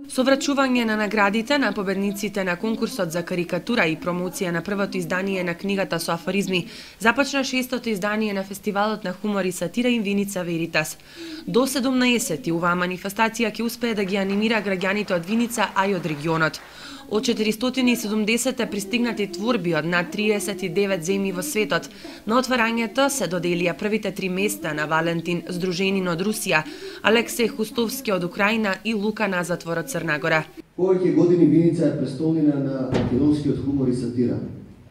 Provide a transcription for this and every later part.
Со врачување на наградите на победниците на конкурсот за карикатура и промоција на првото издание на книгата со афоризми, започна 6-тото издание на фестивалот на хумор и сатира Инвиница Веритас. До 17 оваа манифестација ќе успее да ги анимира граѓаните од Виница, а и од регионот. Од 470 пристигнати творби од над 39 земји во светот, на отварањето се доделија првите 3 места на Валентин Здруженин од Русија, Алексеј Хустовски од Украина и Лука Назатвор од Црна Гора. Повеќе години Виница е престолнина на македонскиот хумор и сатира.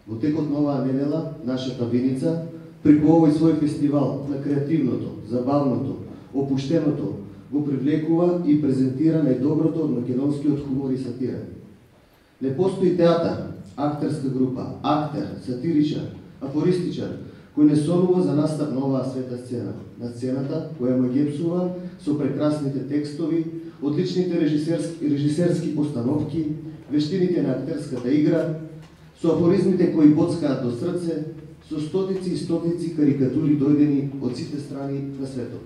Во текот на оваа недела, нашата Виница преку овој свој фестивал на креативното, забавното, опуштеното го привлекува и презентира најдоброто од македонскиот хумор и сатира. Не постои театар, актерска група, актер, сатиричар, афористичар, кој не сонува за настап на оваа света сцена. На сцената која му гепсува со прекрасните текстови, одличните режисерски постановки, вештините на актерската игра, со афоризмите кои боцкаат до срце, со стотици и стотици карикатури дојдени од сите страни на светот.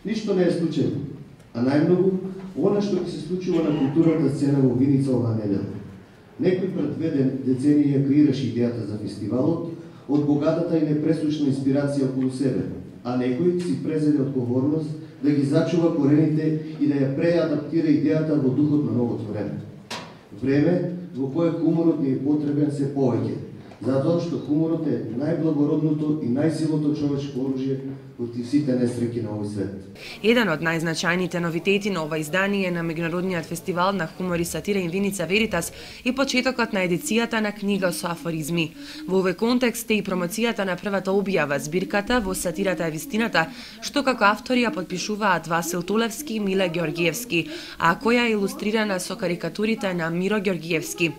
Ништо не е случајно, а најмногу она што ќе се случува на културната сцена во Виница оваа недела. Некој пред 2 децении ја креираше идејата за фестивалот од богатата и непресушна инспирација околу себе, а некој си презеде одговорност да ги зачува корените и да ја преадаптира идејата во духот на новото време. Време во кое хуморот ни е потребен се повеќе, затоа што хуморот е најблагородното и најсилното човечко оружје против сите несреќи на овој свет. Еден од најзначајните новитети на ова издание на меѓународниот фестивал на хумор и сатира Инвиница Веритас е почетокот на едицијата на книга со афоризми. Во овој контекст е и промоцијата на првата објава збирката Во сатирата е вистината, што како автори ја подпишуваат Васил Толевски и Миле Ѓоргиевски, а која е илустрирана со карикатурите на Миро Ѓоргиевски.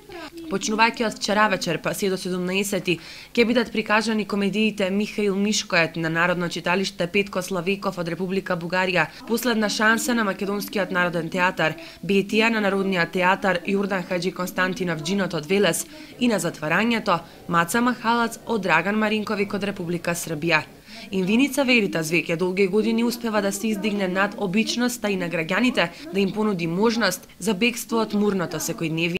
Почнувајќи од вчера вечер па се до 17 ќе бидат прикажани комедиите Михаил Мишкоет на Народно читалиште Петко Славеков од Република Бугарија, Последна шанса на Македонскиот народен театар, Бетија на Народниот театар Јордан Хаџи Константинов Џинот од Велес и на затварањето Маца Махалац од Драган Маринковик од Република Србија. Инвиница Веритас веќе долги години успева да се издигне над обичноста и на граѓаните, да им понуди можност за бегство од мурното секојдневие